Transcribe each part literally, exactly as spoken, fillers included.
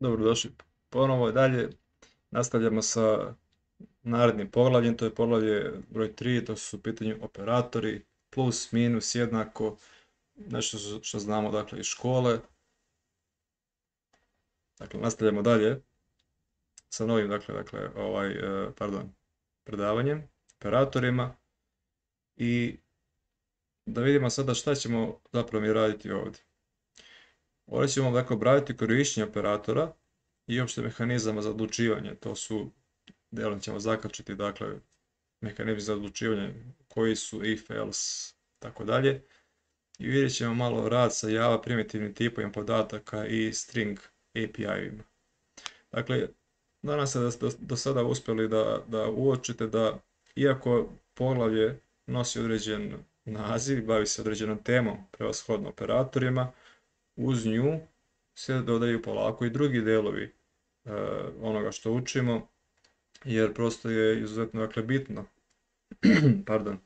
Dobrodošli ponovo dalje. Nastavljamo sa narednim poglavljem, to je poglavlje broj tri, to su u pitanju operatori, plus, minus, jednako, nešto što znamo dakle iz škole. Dakle, nastavljamo dalje sa novim, dakle, dakle, ovaj, pardon, predavanjem, operatorima i da vidimo sada šta ćemo zapravo mi raditi ovdje. Ovdje ćemo dakle obraditi korištenje operatora i opšte mehanizama za odlučivanje, to su delom ćemo zakačiti dakle mehanizmi za odlučivanje koji su if, else, tako dalje. I vidjet ćemo malo rad sa Java primitivnim tipovima podataka i string A P I-ima. Dakle, nadam se da ste do sada uspjeli da, da uočite da iako poglavlje nosi određen naziv, bavi se određenom temom, prevashodno operatorima, uz nju se dodaju polako i drugi delovi e, onoga što učimo, jer prosto je izuzetno dakle, bitno pardon,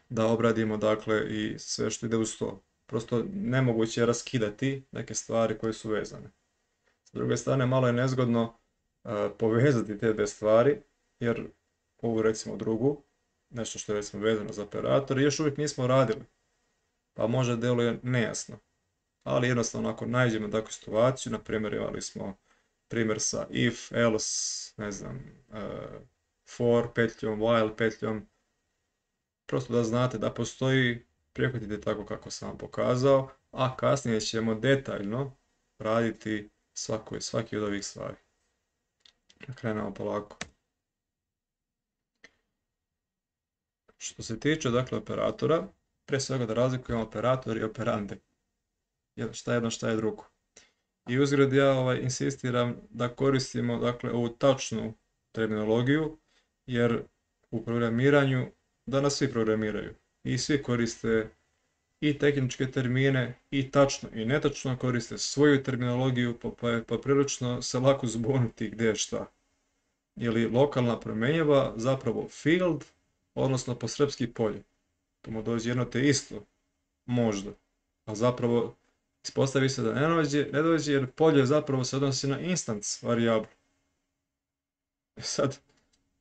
da obradimo dakle, i sve što ide uz to. Prosto nemoguće je raskidati neke stvari koje su vezane. S druge strane, malo je nezgodno uh, povezati te dve stvari, jer ovu recimo drugu, nešto što je recimo vezano za operator, još uvijek nismo radili, pa možda deluje nejasno. Ali jednostavno ako nađemo takvu situaciju, na primjer imali smo primjer sa if, else, ne znam, uh, for petljom, while petljom, prosto da znate da postoji, prihvatite tako kako sam vam pokazao, a kasnije ćemo detaljno raditi svako, svaki od ovih stvari. Krenemo polako. Što se tiče dakle operatora, pre svega da razlikujemo operator i operande. Šta je jedno, šta je drugo. I uzgred ja ovaj, insistiram da koristimo dakle ovu tačnu terminologiju, jer u programiranju danas svi programiraju i svi koriste i tehničke termine i tačno i netačno koriste svoju terminologiju, pa je pa prilično se lako zbuniti gdje je šta. Ili lokalna promjenjiva zapravo field, odnosno po srpski polje. To mu dođe jedno te isto, možda, a zapravo ispostavi se da ne dođe, ne dođe jer polje zapravo se odnosi na instance varijablu. Sad,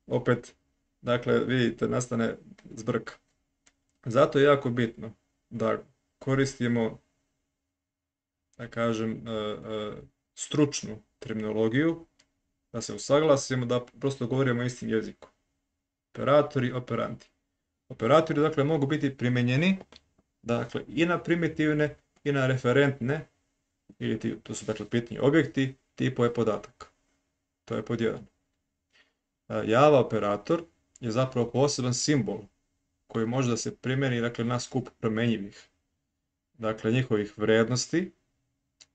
opet, dakle, vidite, nastane zbrka. Zato je jako bitno da koristimo, da kažem, stručnu terminologiju, da se usaglasimo, da prosto govorimo istim jezikom. Operatori, operanti. Operatori, dakle, mogu biti primjenjeni, dakle, i na primitivne, i na referentne, ili to su, dakle, pitanje objekti, tipove podataka. To je pod jedan. Java operator je zapravo poseban simbol koji može da se primjeni dakle, na skup promenjivih, dakle njihovih vrednosti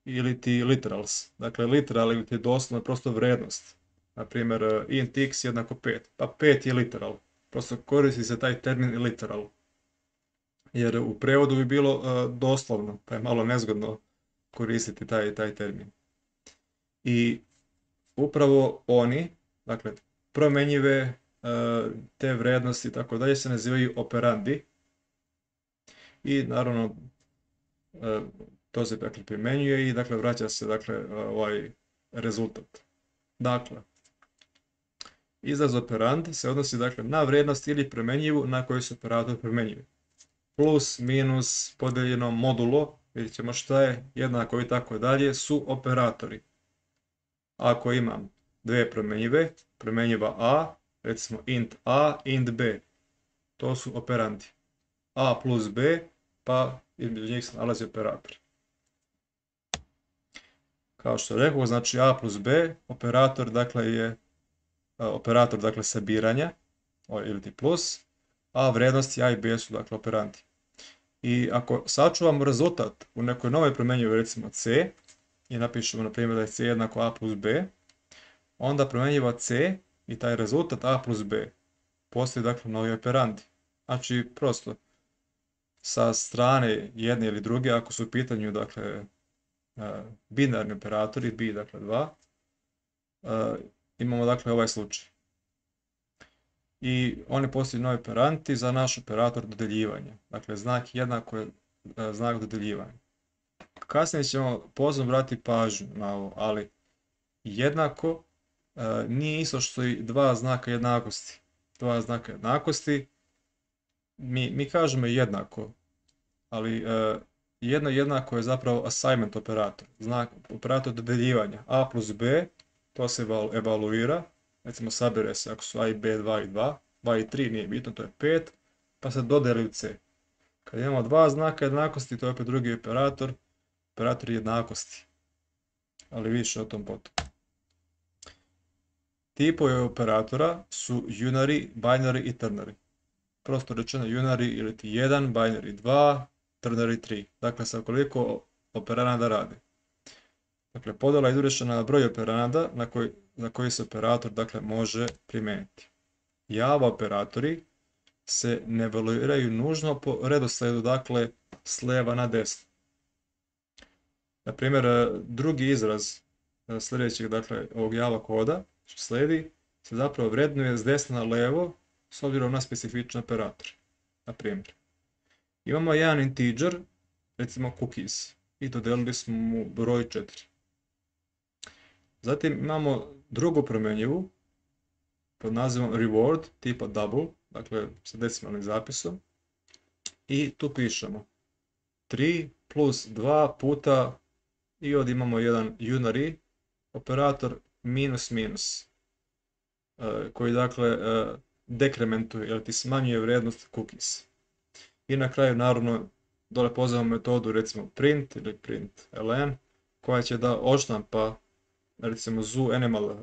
ili ti literals. Dakle, literal ili ti doslovno prosto vrednost. Naprimjer, int x jednako pet, pa pet je literal. Prosto koristi se taj termin literal. Jer u prevodu bi bilo uh, doslovno, pa je malo nezgodno koristiti taj, taj termin. I upravo oni, dakle, promenjive te vrednosti i tako dalje se nazivaju operandi i naravno to se dakle primenjuje i dakle vraća se dakle ovaj rezultat. Dakle, izraz operand se odnosi dakle na vrednost ili promenjivu na koju se operator promenjuje. Plus, minus, podeljeno, modulo, vidjet ćemo šta je, jednako i tako dalje, su operatori. Ako imam dve promenjive, promenjiva a, recimo int a, int b, to su operandi. A plus b, pa između njih se nalazi operator. Kao što rekao, znači a plus b, operator dakle je operator dakle sabiranja, ili ti plus, a vrednosti a i b su dakle operandi. I ako sačuvamo rezultat u nekoj novoj promenjivoj, recimo c, i napišemo na primjer da je c jednako a plus b, onda promenjiva c i taj rezultat a plus b postoji dakle novi operandi. Znači prosto sa strane jedne ili druge, ako su u pitanju dakle binarni operatori, b dakle dva, imamo dakle ovaj slučaj. I oni postaju novi operanti za naš operator dodeljivanja. Dakle, znak jednako je znak dodeljivanja. Kasnije ćemo pozorno vratiti pažnju na ovo, ali jednako nije isto što i dva znaka jednakosti. Dva znaka jednakosti, mi, mi kažemo jednako, ali jedno jednako je zapravo assignment operator, znak, operator dodeljivanja. A plus B, to se evaluira, recimo sabere se ako su A i B dva i dva, dva i tri nije bitno, to je pet, pa se dodeli u C. Kad imamo dva znaka jednakosti, to je opet drugi operator, operator jednakosti, ali više o tom potom. Tipovi operatora su unary, binary i ternary. Prosto rečeno unary ili ti jedan, binary dva, ternary tri. Dakle, sa koliko operanada radi. Dakle, podjela je izvršena na broj operanada na koji, na koji se operator dakle, može primijeniti. Java operatori se ne evaluiraju nužno po redoslijedu, dakle, s lijeva na desno. Na primjer, drugi izraz sljedećeg, dakle, ovog Java koda, što slijedi, se zapravo vrednuje s desna na levo s obzirom na specifične operatore. Na primjer, imamo jedan integer, recimo cookies, i dodelili smo mu broj četiri. Zatim imamo drugu promjenjivu pod nazivom reward tipa double, dakle sa decimalnim zapisom, i tu pišemo tri plus dva puta i ovdje imamo jedan unary operator minus minus, koji dakle dekrementuje ili ti smanjuje vrijednost cookies. I na kraju naravno dole pozivamo metodu recimo print ili println koja će da odštampa recimo zoo animal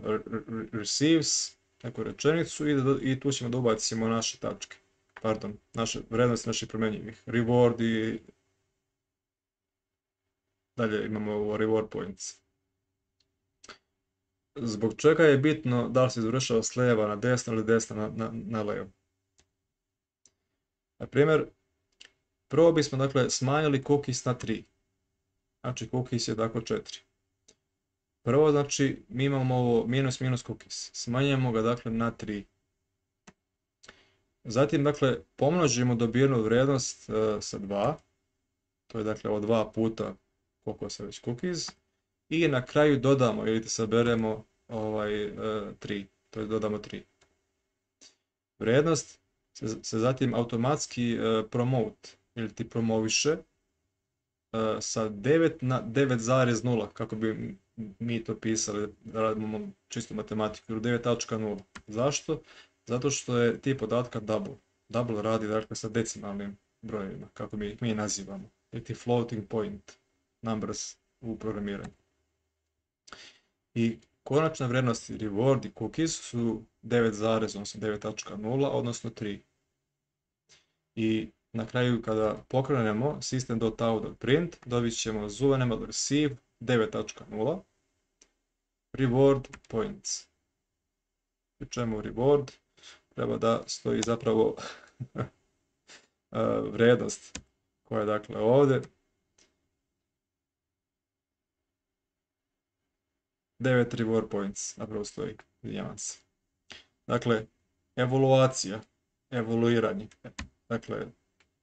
receives neku rečenicu i, i tu ćemo da ubacimo naše tačke, pardon, naše vrijednosti naših promjenjivih, reward i dalje imamo ovo reward points. Zbog čega je bitno da li se izvršava s lijeva na desno ili desno na, na, na levo. Na primjer, prvo bismo dakle smanjili cookies na tri. Znači cookies je dakle četiri. Prvo znači mi imamo ovo minus minus cookies. Smanjujemo ga dakle na tri. Zatim dakle pomnožimo dobijenu vrijednost uh, sa dva. To je dakle ovo dva puta koliko se već cookies. I na kraju dodamo ili saberemo ovaj, uh, tri. To je dodamo tri. Vrijednost se, se zatim automatski uh, promote ili ti promoviše uh, sa devet na devet zarez nula, kako bi mi to pisali, da radimo čistu matematiku, ili devet tačka nula. Zašto? Zato što je tip podatka double. Double radi dakle sa decimalnim brojevima, kako mi ih mi nazivamo. Ili ti floating point numbers u programiranju. I konačna vrijednost reward i cookies su devet zarez nula, odnosno tri. I na kraju kada pokrenemo system.out.print dobit ćemo zoo animal receive devet tačka nula reward points. Pri čemu reward treba da stoji zapravo vrijednost koja je dakle ovdje devet reward points, zapravo stoji, izvinjavam se. Dakle, evaluacija, evaluiranje, dakle,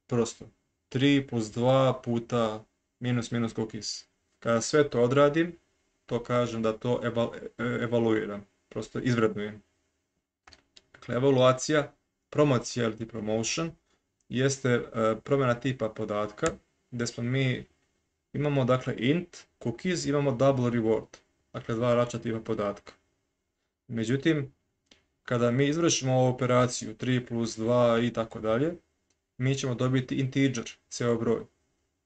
prosto tri plus dva puta minus minus cookies. Kada sve to odradim, to kažem da to eval, evaluiram, prosto izvrednujem. Dakle, evaluacija, promocija ili promotion, jeste uh, promjena tipa podatka, gdje smo mi imamo dakle int, cookies, imamo double reward, dakle dva različita tipa podatka. Međutim, kada mi izvršimo ovu operaciju tri plus dva i tako dalje, mi ćemo dobiti integer, ceo broj.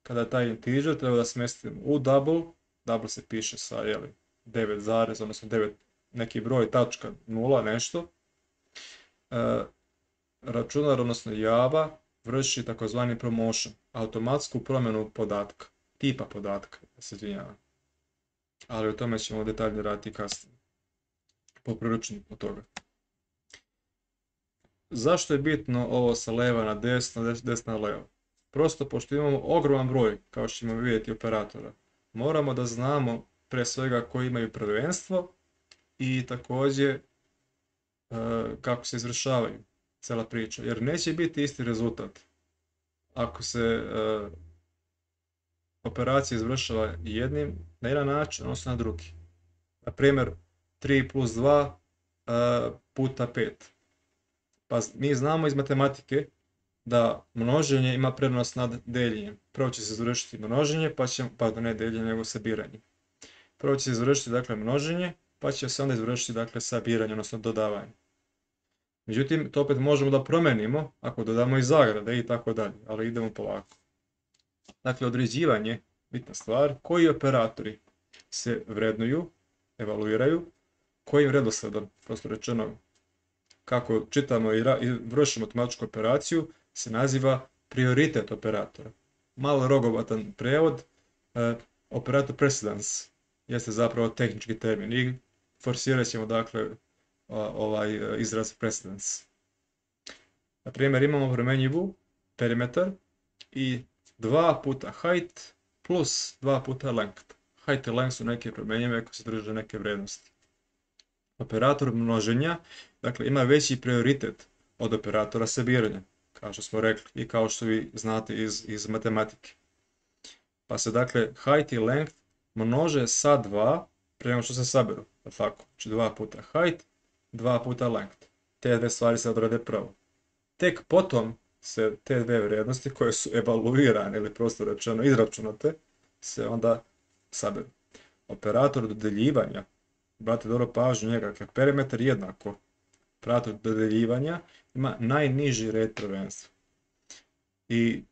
Kada taj integer treba da smestimo u double, double se piše sa jeli, devet zarez, odnosno devet neki broj tačka nula nešto, e, računar, odnosno Java, vrši takozvani promotion, automatsku promjenu podatka, tipa podatka, da se izvinjavam. Ali o tome ćemo detaljnije raditi kasnije, po priručniku toga. Zašto je bitno ovo sa leva na desno, desno na levo? Prosto pošto imamo ogroman broj, kao što ćemo vidjeti, operatora, moramo da znamo pre svega koji imaju prvenstvo i također e, kako se izvršavaju cela priča, jer neće biti isti rezultat ako se e, operacija izvršava jednim na jedan način, odnosno na drugi. Na primjer, tri plus dva uh, puta pet. Pa mi znamo iz matematike da množenje ima prednost nad deljenjem. Prvo će se završiti množenje, pa će, pardon, ne deljenje, nego sabiranje. Prvo će se završiti, dakle, množenje, pa će se onda izvršiti, dakle, sabiranje, odnosno dodavanje. Međutim, to opet možemo da promenimo ako dodamo i zagrade i tako dalje, ali idemo polako. Dakle, određivanje, bitna stvar, koji operatori se vrednuju, evaluiraju, kojim redosledom, prosto rečeno, kako čitamo i, i vršimo matematičku operaciju, se naziva prioritet operatora. Malo rogovatan prevod, e, operator precedence jeste zapravo tehnički termin i forsirat ćemo, dakle, ovaj izraz precedence. Na primjer, imamo promenjivu perimetar i dva puta height plus dva puta length. Height i length su neke promenjive ako se drže neke vrednosti. Operator množenja, dakle, ima veći prioritet od operatora sabiranja, kao što smo rekli i kao što vi znate iz, iz matematike. Pa se, dakle, height i length množe sa dva prema što se saberu, tako? Znači dva puta height, dva puta length. Te dve stvari se odrade prvo. Tek potom se te dve vrijednosti koje su evaluirane ili prosto rečeno izračunate se onda saberu. Operator dodeljivanja, brate dobro pažnju njega, dakle perimetar jednako operator dodeljivanja ima najniži red prvenstva. I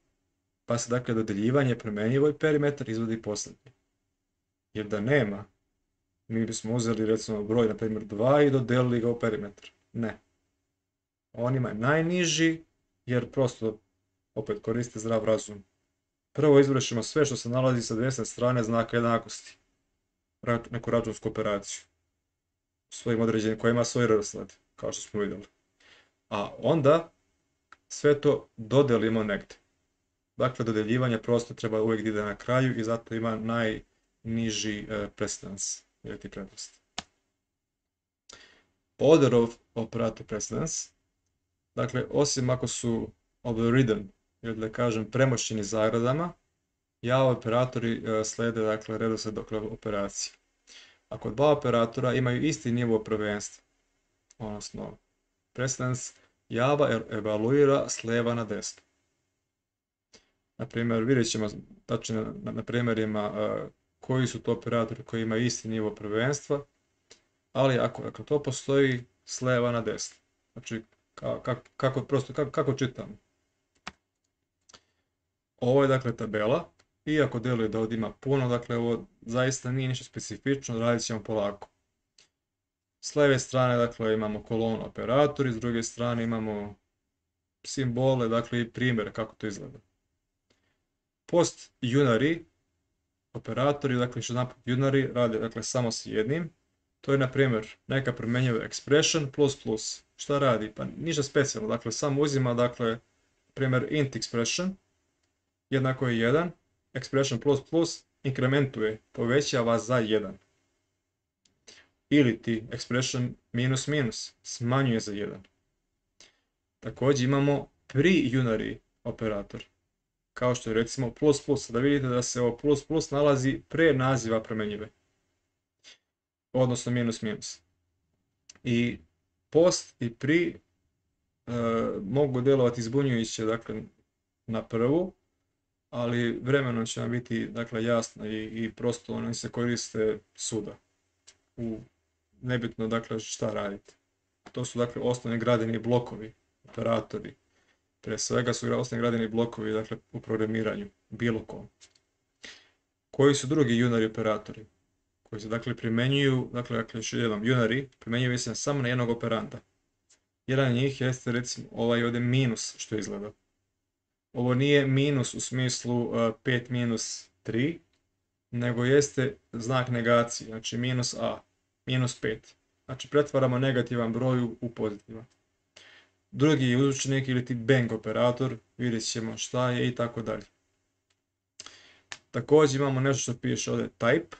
pa se, dakle, dodeljivanje promenjivo i perimetar izvodi posljednji. Jer da nema, mi bismo uzeli recimo broj, na primjer dva i dodelili ga u perimetar. Ne. On ima najniži, jer prosto opet koriste zdrav razum. Prvo izvršimo sve što se nalazi sa desne strane znaka jednakosti. Neku računsku operaciju. Svojim određenim koji ima svoj redosled, kao što smo vidjeli. A onda sve to dodelimo negdje. Dakle, dodeljivanje prosto treba uvijek da ide na kraju i zato ima najniži uh, precedence, ili ti prednost. Order of operator precedence, dakle, osim ako su overridden, ili da kažem premošćeni zagradama, ja operatori uh, slede, dakle, redosled operacije. Ako dva operatora imaju isti nivo prvenstva, odnosno precedence, Java evaluira s lijeva na desno. Na primjer, vidjet ćemo tačno na, na primjerima uh, koji su to operatori koji imaju isti nivo prvenstva, ali ako, ako to postoji s lijeva na desno. Znači, kako, kako, prosto, kako, kako čitamo. Ovo je, dakle, tabela, iako deluje da ovdje ima puno, dakle, ovo zaista nije ništa specifično, radit ćemo polako. S lijeve strane, dakle, imamo kolonu operatori, s druge strane imamo simbole, dakle, i primjer kako to izgleda. Post unary operatori, dakle, što napad unary rade, dakle, samo s jednim. To je, na primjer, neka promjenjiva expression plus plus. Šta radi? Pa ništa specijalno, dakle, samo uzima, dakle, primjer int expression, jednako je jedan, expression plus plus inkrementuje, povećava za jedan. Ili ti expression minus minus smanjuje za jedan. Također imamo pre-unary operator, kao što je recimo plus plus, da vidite da se ovo plus plus nalazi pre naziva promjenjive, odnosno minus minus. I post i pre e, mogu djelovati zbunjujuće, dakle, na prvu, ali vremenom će vam biti, dakle, jasno i, i prosto oni se koriste svuda. U nebitno, dakle, šta radite. To su, dakle, osnovni gradeni blokovi, operatori. Pre svega su osnovni gradeni blokovi, dakle, u programiranju, bilo kom. Koji su drugi unary operatori? Koji se, dakle, primjenjuju, dakle, dakle još jednom, unary primjenjuju se samo na jednog operanda. Jedan od njih jeste, recimo, ovaj ovdje minus, što izgleda. Ovo nije minus u smislu uh, pet minus tri, nego jeste znak negacije, znači minus a, minus pet. Znači, pretvaramo negativan broj u pozitivan. Drugi uzročnik ili ti bang operator, vidjet ćemo šta je i tako dalje. Također imamo nešto što piše ovdje type,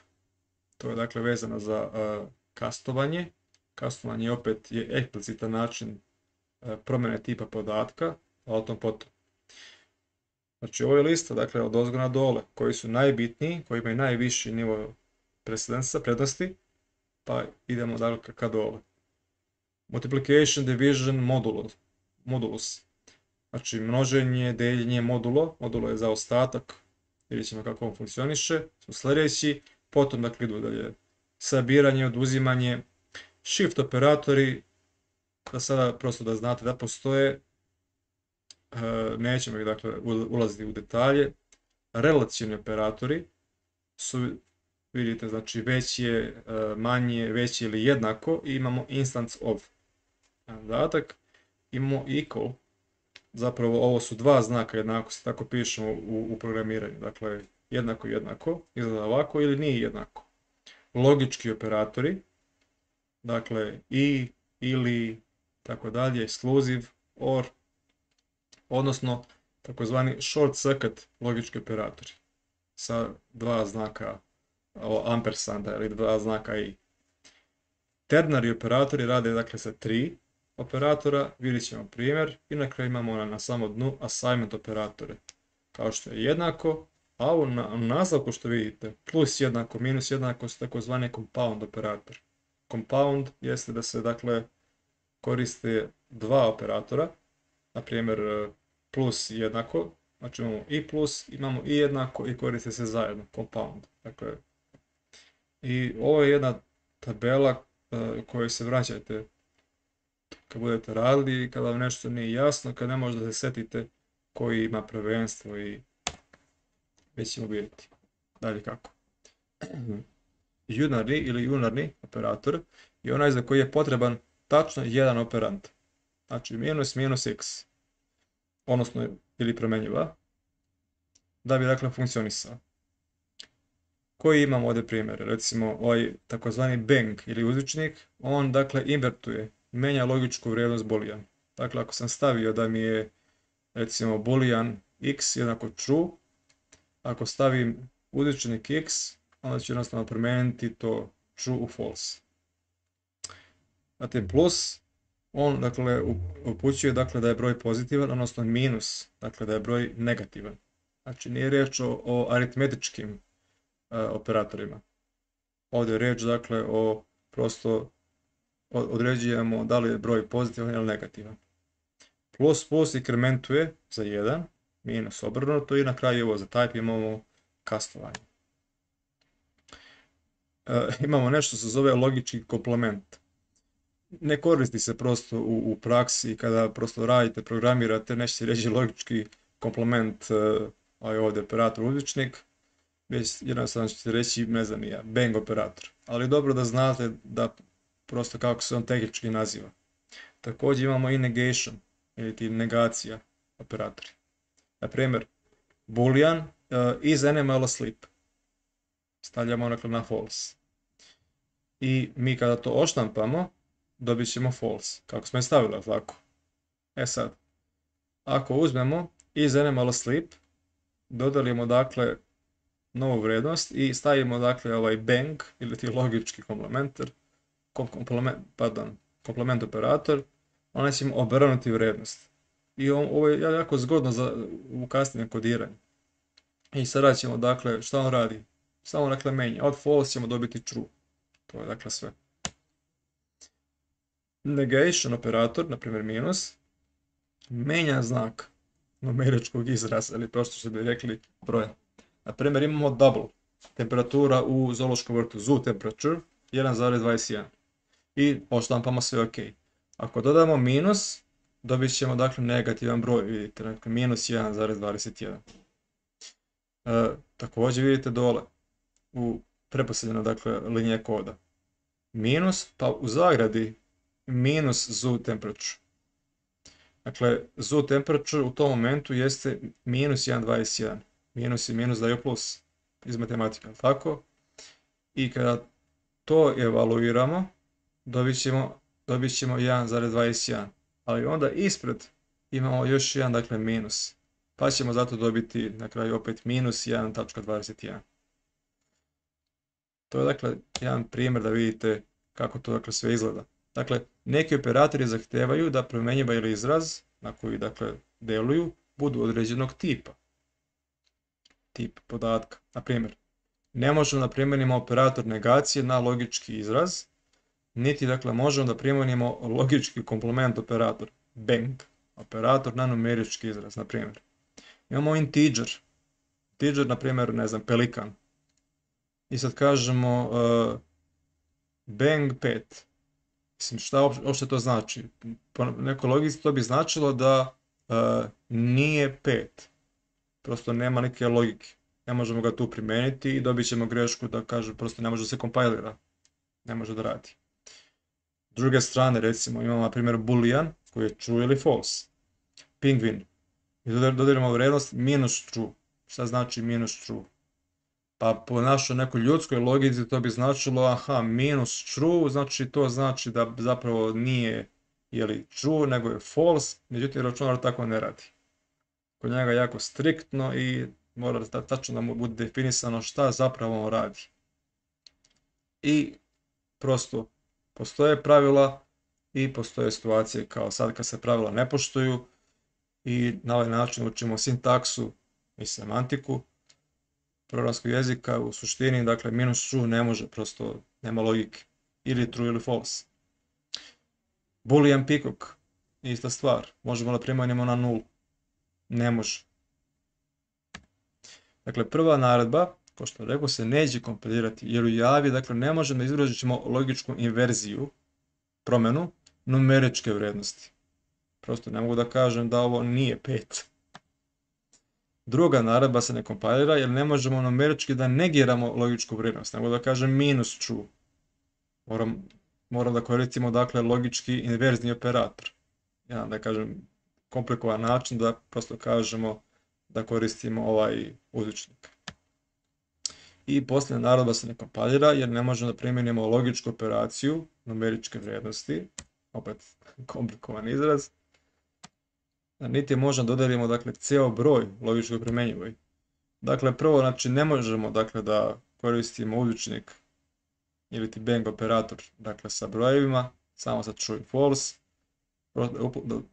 to je, dakle, vezano za uh, kastovanje. Kastovanje opet je eksplicitan način uh, promjene tipa podatka, a o tom potom. Znači, ovo je lista, dakle, od ozgo na dole, koji su najbitniji, koji imaju najviši nivo precedensa, prednosti. pa idemo dakle ka dole. Multiplication, division, modulus. modulus. Znači množenje, deljenje, modulo. Modulo je zaostatak. Vidjet ćemo kako on funkcioniše. Su sljedeći. Potom dakle idu dalje sabiranje, oduzimanje, shift operatori. Da sada prosto da znate da postoje. Nećemo ih dakle ulaziti u detalje. Relacioni operatori su, vidite, znači veće, manje, veće ili jednako i imamo instance of. Zadatak, imamo equal, zapravo ovo su dva znaka jednakosti, tako pišemo u, u programiranju, dakle jednako jednako, izgleda ovako ili nije jednako. Logički operatori, dakle i, ili, tako dalje, exclusive, or, odnosno takozvani short circuit logički operatori sa dva znaka ampersanda ili dva znaka i. Ternary operatori rade dakle sa tri operatora, vidjet ćemo primjer i na kraju imamo na, na samom dnu assignment operatore, kao što je jednako, a u, na, u nastavku što vidite plus jednako, minus jednako su takozvani compound operator. Compound jeste da se dakle koriste dva operatora, na primjer plus jednako, znači imamo i plus, imamo i jednako i koriste se zajedno, compound. Dakle, i ovo je jedna tabela uh, kojoj se vraćate kad budete radili, kada vam nešto nije jasno, kad ne možete da se setite koji ima prvenstvo i već ćemo vidjeti. Dalje kako. Unarni ili unarni operator je onaj za koji je potreban tačno jedan operand. Znači minus minus x, odnosno ili promjenjiva, da bi dakle funkcionisao. Koji imamo ovdje primjer? Recimo ovaj takozvani bang ili uzvičnik, on dakle invertuje, menja logičku vrijednost boolean. Dakle, ako sam stavio da mi je recimo boolean x jednako true, ako stavim uzvičnik x, onda ću jednostavno promijeniti to true u false. Zatim plus, on dakle upućuje dakle da je broj pozitivan, odnosno minus, dakle da je broj negativan. Znači nije riječ o, o aritmetičkim uh, operatorima. Ovdje je riječ dakle o prosto određujemo da li je broj pozitivan ili negativan. Plus plus inkrementuje za jedan, minus obrnuto i na kraju ovo za type imamo kastovanje. Uh, imamo nešto što se zove logički komplement. Ne koristi se prosto u, u praksi kada prosto radite, programirate, nećete reći logički komplement, uh, ovaj ovdje operator uzvičnik, već jednostavno ćete reći, ne znam ja, bang operator. Ali dobro da znate da prosto kako se on tehnički naziva. Također imamo i negation, ili ti negacija operatori. Na primjer, boolean uh, is animal asleep. Stavljamo dakle na false. I mi kada to oštampamo, dobit ćemo false, kako smo je stavili, tako. E sad, ako uzmemo is animal asleep, dodalimo dakle novu vrijednost i stavimo dakle ovaj bang, ili ti logički komplementer, komplement, pardon, komplement operator, onda ćemo obrnuti vrijednost. I on, ovo je jako zgodno za u kasnijem kodiranju. I sada ćemo dakle, šta on radi? Samo dakle menja, od false ćemo dobiti true. To je dakle sve. Negation operator, na primjer minus, menja znak numeričkog izraza, ili prosto što bi rekli broja. Na primjer imamo double, temperatura u zoološkom vrtu, zoo temperature, jedan zarez dvadeset jedan. I odštampamo sve ok. Ako dodamo minus, dobit ćemo dakle negativan broj, vidite, dakle minus jedan zarez dvadeset jedan. E, također vidite dole, u preposljednjena dakle linija koda. Minus, pa u zagradi minus zoo temperature. Dakle, zoo temperature u tom momentu jeste minus jedan zarez dvadeset jedan. Minus i minus daju plus iz matematika, tako? I kada to evaluiramo, dobit ćemo, dobit ćemo jedan zarez dvadeset jedan. Ali onda ispred imamo još jedan, dakle, minus. Pa ćemo zato dobiti na kraju opet minus jedan zarez dvadeset jedan. To je dakle jedan primjer da vidite kako to dakle sve izgleda. Dakle, neki operatori zahtijevaju da promjenjiva ili izraz na koji dakle deluju budu određenog tipa. Tip podatka. Na primjer, ne možemo da primijenimo operator negacije na logički izraz niti dakle možemo da primijenimo logički komplement operator, bang, operator na numerički izraz, na primjer. Imamo integer, integer, na primjer, ne znam, pelikan. I sad kažemo uh, bang pet. Mislim, šta uopšte to znači? Po nekoj logici to bi značilo da uh, nije pet. Prosto nema neke logike. Ne možemo ga tu primeniti i dobit ćemo grešku da kaže prosto ne može da se kompajlira. Ne može da radi. S druge strane, recimo, imamo na primjer boolean koji je true ili false. Penguin. I dodelimo vrednost minus true. Šta znači minus true? Pa po našoj nekoj ljudskoj logici to bi značilo, aha, minus true, znači to znači da zapravo nije jeli, true, nego je false, međutim računar tako ne radi. Kod njega je jako striktno i mora da tačno da mu bude definisano šta zapravo on radi. I prosto postoje pravila i postoje situacije kao sad kad se pravila ne poštuju i na ovaj način učimo sintaksu i semantiku programskog jezika. U suštini, dakle, minus true ne može, prosto nema logike. Ili true ili false. Boolean peacock, ista stvar. Možemo da primenimo na nulu. Ne može. Dakle, prva naredba, kao što rekao, se neće kompilirati, jer u javi, dakle, ne možemo da izrazimo logičku inverziju, promenu, numeričke vrednosti. Prosto ne mogu da kažem da ovo nije pet. Druga naredba se ne kompilira jer ne možemo numerički da negiramo logičku vrednost, nego da kažem minus true. Moram, moram da koristimo dakle logički inverzni operator. Ja da kažem komplikovan način da prosto kažemo da koristimo ovaj uzvičnik. I posljednja naredba se ne kompilira jer ne možemo da primijenimo logičku operaciju numeričke vrednosti, opet komplikovan izraz, niti možemo da dodelimo dakle ceo broj logičko primenjivoj. Dakle, prvo, znači ne možemo dakle da koristimo uzvičnik ili ti bang operator dakle sa brojevima, samo sa true i false,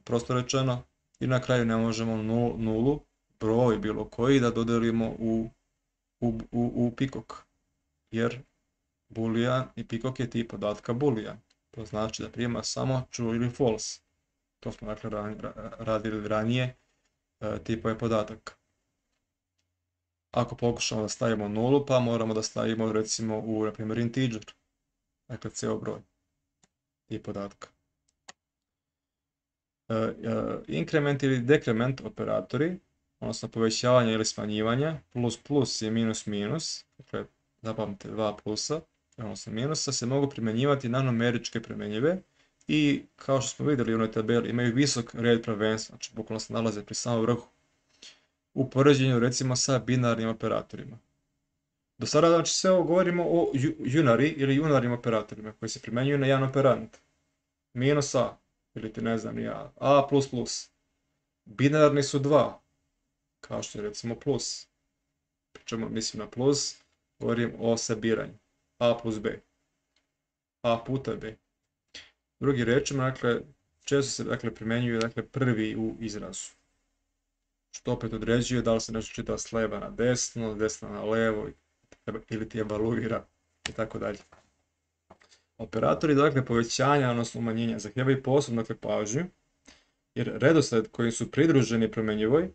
prosto rečeno, i na kraju ne možemo nulu, broj bilo koji, da dodelimo u, u, u, u peacock, jer boolean i peacock je tip podatka boolean. To znači da prima samo true ili false. To smo dakle radili ranije tipove podataka. Ako pokušamo da stavimo nulu, pa moramo da stavimo recimo u, na primjer, integer. Dakle, ceo broj tip podatka. Inkrement ili dekrement operatori, odnosno povećavanje ili smanjivanje, plus plus i minus minus, dakle, zapamtite dva plusa, odnosno minusa, se mogu primjenjivati na numeričke primjenjive i, kao što smo vidjeli u onoj tabeli, imaju visok red prvenstva, znači bukvalno se nalaze pri samom vrhu, u poređenju recimo sa binarnim operatorima. Do sada, znači, sve ovo govorimo o unary ili unarnim operatorima koji se primjenjuju na jedan operand. Minus a, ili ti ne znam ja, a plus plus. Binarni su dva, kao što je recimo plus. Pričamo, mislim na plus, govorim o sabiranju. A plus b. A puta b. Drugi rečima, dakle, često se dakle, primjenjuju dakle, prvi u izrazu. Što opet određuje da li se nešto čita s leva na desno, desno na levo, ili ti evaluira i tako dalje. Operatori dakle povećanja, odnosno umanjenja, zahtijevaju posebnu dakle, pažnju, jer redosled koji su pridruženi promjenjivoj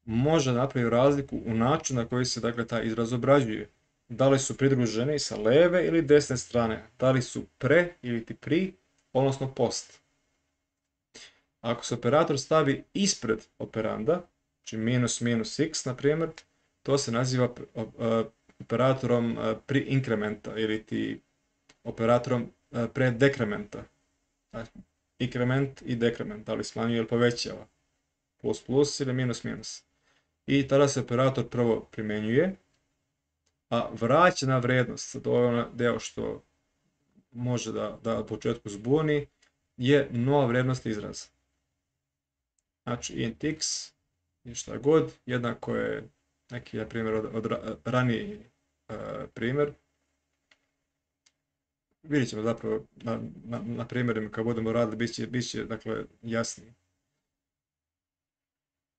može napraviti razliku u načinu na koji se dakle, taj izraz obrađuje. Da li su pridruženi sa leve ili desne strane, da li su pre ili ti pri, odnosno post. Ako se operator stavi ispred operanda, znači minus minus x, na primjer, to se naziva operatorom pri inkrementa ili ti operatorom pre dekrementa. Inkrement i dekrement, da li smanjuje ili povećava. Plus plus ili minus minus. I tada se operator prvo primjenjuje, a vraćena vrednost, to je onaj deo što može da, da u početku zbuni, je nova vrednost izraza. Znači int x i šta god, jednako je neki na primjer od, od raniji uh, primjer. Vidjet ćemo zapravo na, na, na primjerima kad budemo radili, bit će, bit će dakle, jasnije.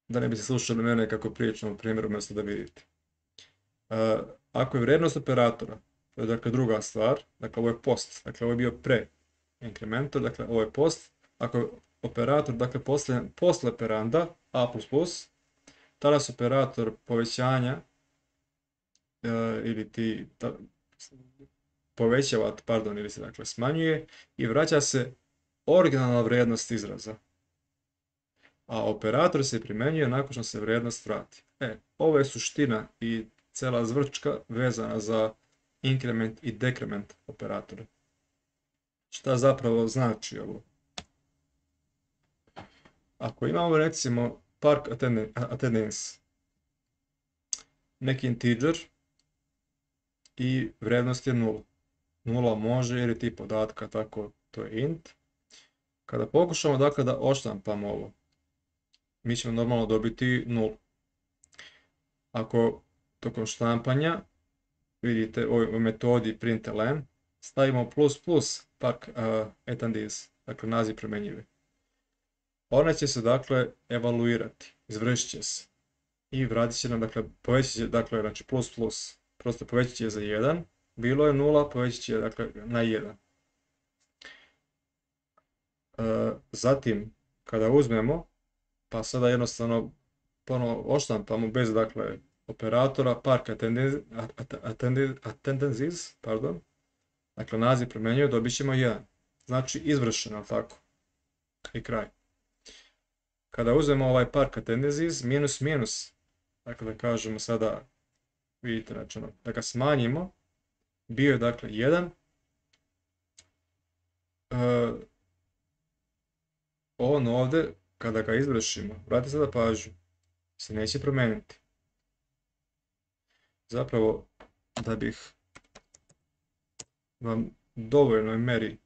Da ne bi se slušali mene kako pričam o primjeru umjesto da vidite. Uh, ako je vrijednost operatora, to je dakle druga stvar, dakle ovo je post, dakle ovo je bio pre, inkrementor, dakle ovo je post, ako je operator, dakle posle, posle operanda a plus plus, tada se operator povećanja e, ili ti ta, povećava, pardon, ili se dakle smanjuje i vraća se originalna vrijednost izraza. A operator se primjenjuje nakon što se vrijednost vrati. E, ovo je suština i cela zvrčka vezana za inkrement i dekrement operatora. Šta zapravo znači ovo? Ako imamo recimo park attendance, neki integer i vrijednost je nula. Nula može jer je tip podatka, tako to je int. Kada pokušamo dakle da odštampamo ovo, mi ćemo normalno dobiti nulu. Ako tokom štampanja, vidite u metodi println, stavimo plus plus park uh, attendance, dakle naziv promjenjivi. Ona će se dakle evaluirati, izvršit će se i vratit će nam, dakle povećat će, dakle znači plus plus, prosto povećat će za jedan, bilo je nula, povećat će dakle na jedan. E, zatim, kada uzmemo, pa sada jednostavno ponovo odštampamo bez dakle operatora park attendances, pardon, dakle naziv promenjuje, dobit ćemo jedan. Znači izvršeno, tako. I kraj. Kada uzmemo ovaj park attendances minus minus, dakle da kažemo sada, vidite, znači da ga smanjimo, bio je dakle jedan, e, on ovdje, kada ga izvršimo, vratite sada pažnju, se neće promijeniti. Zapravo, da bih vam dovoljnoj meri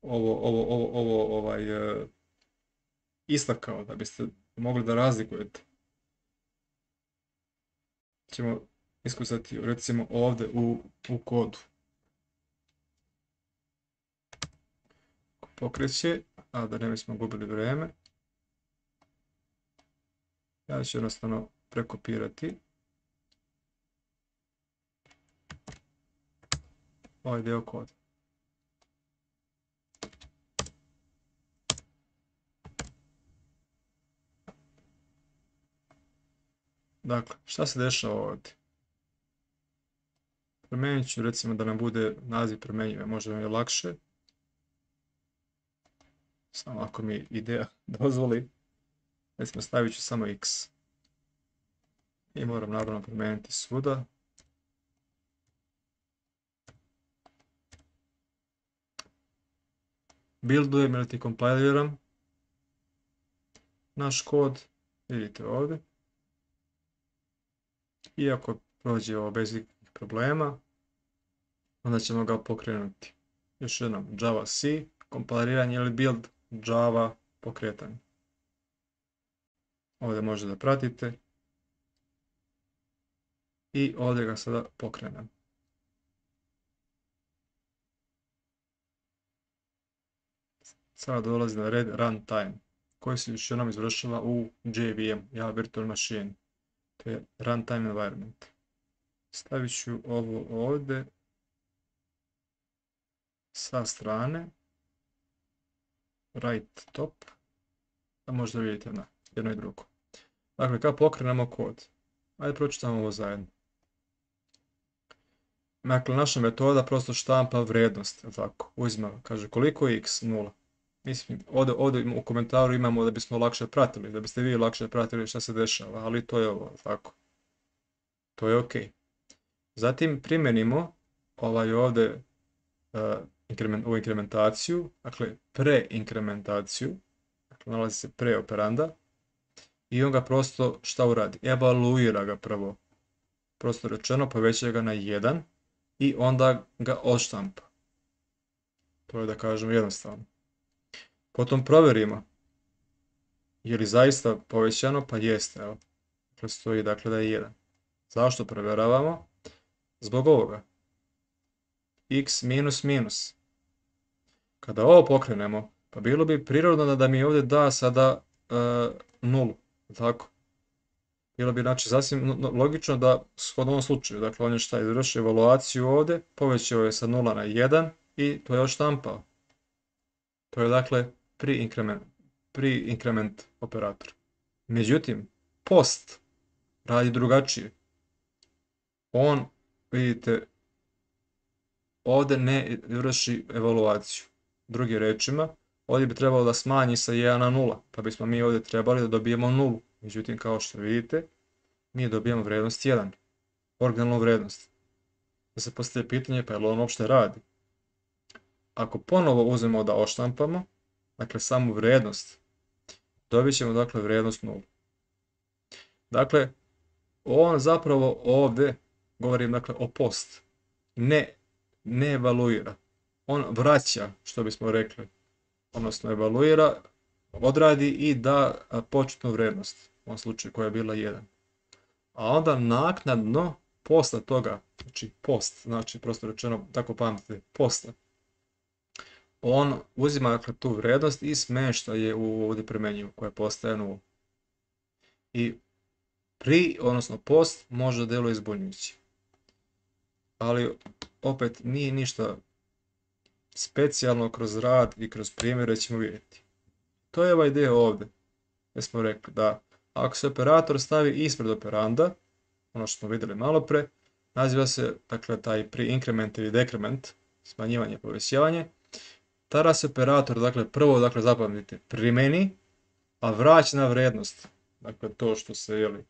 ovo, ovo, ovo, ovo ovaj, uh, istakao, da biste mogli da razlikujete, ćemo iskusati recimo ovdje u, u kodu. Pokreće, a da ne bismo gubili vrijeme, ja ću jednostavno prekopirati ovaj dio koda. Dakle, šta se dešava ovdje? Promijenit ću recimo da nam bude naziv promjenjive, možda nam je lakše. Samo ako mi ideja dozvoli. Recimo stavit ću samo x. I moram naravno promijeniti svuda. Buildujem ili ti kompiliram naš kod. Vidite ovdje. Iako prođe ovo bez ikakvih problema, onda ćemo ga pokrenuti. Još jednom, Java C, kompiliranje ili build Java pokretanje. Ovdje možete da pratite. I ovdje ga sada pokrenem. Sada dolazi na red runtime, koji se još jednom izvršila u J V M, Java Virtual Machine. To je runtime environment. Stavit ću ovo ovdje sa strane, right top, da možda vidite na jedno i drugo. Dakle, kad pokrenemo kod, ajde pročitamo ovo zajedno. Dakle, naša metoda prosto štampa vrijednost, tako, uzima, kaže koliko je x, nula. Mislim, ovdje, ovdje u komentaru imamo da bismo lakše pratili, da biste vi lakše pratili šta se dešava, ali to je ovo, tako. To je ok. Zatim primjenimo ovaj ovdje uh, inkrement, ovu inkrementaciju, dakle preinkrementaciju, dakle nalazi se pre operanda, i on ga prosto šta uradi? Evaluira ga prvo. Prosto rečeno, poveća ga na jedan i onda ga odštampa. To je da kažemo jednostavno. Potom provjerimo je li zaista povećano, pa jeste, evo. Dakle, stoji dakle da je jedan. Zašto provjeravamo? Zbog ovoga. X minus minus. Kada ovo pokrenemo, pa bilo bi prirodno da, da mi ovdje da sada uh, nulu. Tako. Bilo bi znači sasvim logično da shodno ovom slučaju, dakle on je šta izvršio evaluaciju ovdje, povećao je sa nula na jedan i to je odštampao. To je dakle pre-increment, pre-increment operator. Međutim, post radi drugačije. On, vidite, ovdje ne vrši evaluaciju. Drugim rečima, ovdje bi trebalo da smanji sa jedan na nula, pa bismo mi ovdje trebali da dobijemo nulu. Međutim, kao što vidite, mi dobijemo vrednost jedan, originalnu vrednost. Da se postavlja pitanje, pa je li on uopšte radi? Ako ponovo uzmemo da oštampamo, dakle samu vrednost, dobit ćemo dakle vrednost nula. Dakle, on zapravo ovdje, govorim dakle o post, ne, ne evaluira. On vraća, što bismo rekli, odnosno evaluira, odradi i da početnu vrednost, u ovom slučaju koja je bila jedan. A onda naknadno, posle toga, znači post, znači prosto rečeno, tako pamtite, posle, on uzima dakle, tu vrednost i smešta je u ovdje premenjivu, koja postaje nula. I pri, odnosno post, može da deluje zbunjujući. Ali, opet, nije ništa specijalno kroz rad i kroz primjere ćemo vidjeti. To je ova ideja ovdje, gdje smo rekli da ako se operator stavi ispred operanda, ono što smo vidjeli malo pre, naziva se dakle, taj pre-increment ili decrement, smanjivanje i povećavanje, tada se operator, dakle, prvo, dakle, zapamtite, primeni, a vraćena vrednost, dakle, to što se, jeli,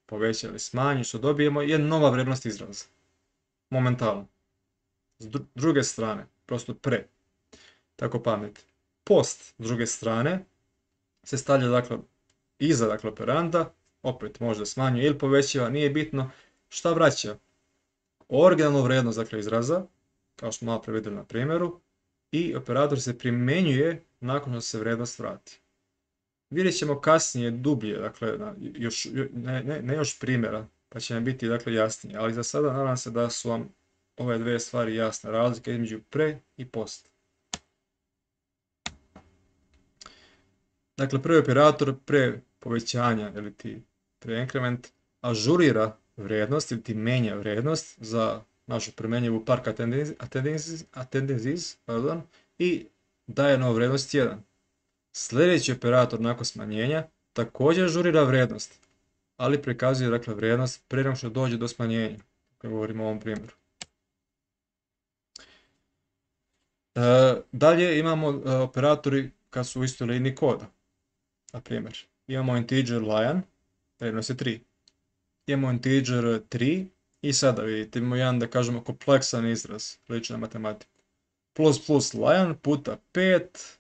poveća ili smanji, što dobijemo, je nova vrednost izraza. Momentalno. S druge strane, prosto pre. Tako pamet. Post, s druge strane, se stavlja, dakle, iza, dakle, operanda, opet možda smanjuje ili povećava, nije bitno, šta vraća? Originalnu vrednost, dakle, izraza, kao što malo pre vidjeli na primjeru, i operator se primjenjuje nakon što se vrednost vrati. Vidjet ćemo kasnije dublje, dakle, još, ne, ne, ne još primjera, pa će nam biti dakle, jasnije, ali za sada nadam se da su vam ove dve stvari jasne, razlika između pre i post. Dakle, prvi operator pre povećanja, ili ti pre increment, ažurira vrednost, ili ti menja vrednost za našu premenjivu park attendances, attendances pardon, i daje novu vrednost jedan. Sljedeći operator nakon smanjenja također ažurira vrednost, ali prikazuje dakle, vrednost prije nego što dođe do smanjenja, kako govorimo o ovom primjeru. E, dalje imamo e, operatori kad su u istoj liniji koda. Na primjer, imamo integer lion, vrednost je tri. Imamo integer tri i sada vidite, imamo jedan, da kažemo, kompleksan izraz, liči na matematiku. Plus plus lion puta pet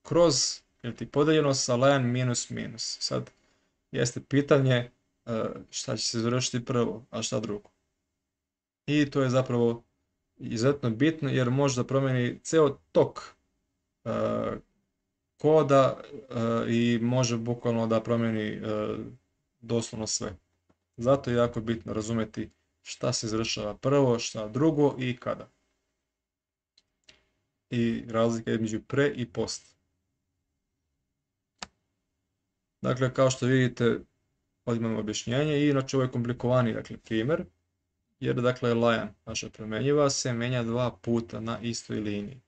kroz, ili ti podeljeno sa lion minus minus. Sad, jeste pitanje šta će se završiti prvo, a šta drugo. I to je zapravo izuzetno bitno jer može da promijeni ceo tok uh, koda uh, i može bukvalno da promijeni uh, doslovno sve. Zato je jako bitno razumjeti šta se izvršava prvo, šta drugo i kada. I razlika između pre i post. Dakle, kao što vidite, ovdje imamo objašnjenje i inače ovo je komplikovaniji dakle, primjer. Jer dakle lion, naša promjenjiva, se menja dva puta na istoj liniji.